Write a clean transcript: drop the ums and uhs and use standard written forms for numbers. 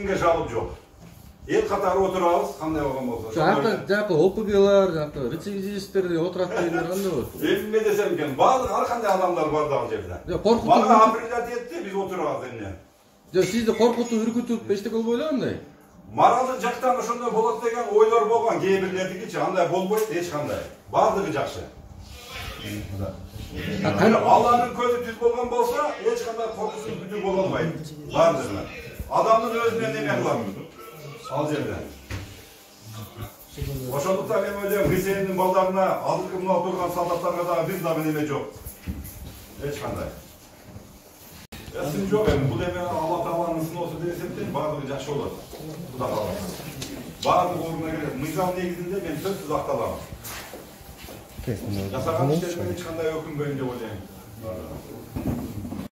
кимге жалоб жок. Эл катары отурабыз, кандай болгон болсо. Жакы ОПГлар, жакы рецидивисттер отурат дегендер кандай болот? Эмне десем экен, баардык ар кандай адамдар бар дагы жерде. Мага апрелят этти, биз отурабыз эмне. Сизди коркутуп, үркүтүп эчтеке болбой эле андай? Маралдык жактан ошондой болот деген ойлор болгон, кээ бирлердикичи, андай болбойт эч кандай. Баардыгы жакшы. Алланын көзү түз болгон болсо, эч кандай коркусуз бүтү боло албайт. Баардыгы. Адамдын өзүнө неме кылам? Ал жерде. Ошондуктан мен ойлойм, Хисендин балдарына, азыркы мына отурган солдаттарга дагы бир дагы неме жок. Эч кандай. Сын жок эми, бул эме Алла Тааланын сыноосу деп эсептейм, баардыгы жакшы болот. Кудай кааласа. Баардык ордуна келет. Мыйзам негизинде мен сөзсүз акталам. Жасаган иштериме эч кандай өкүнбөйм деп ойлойм.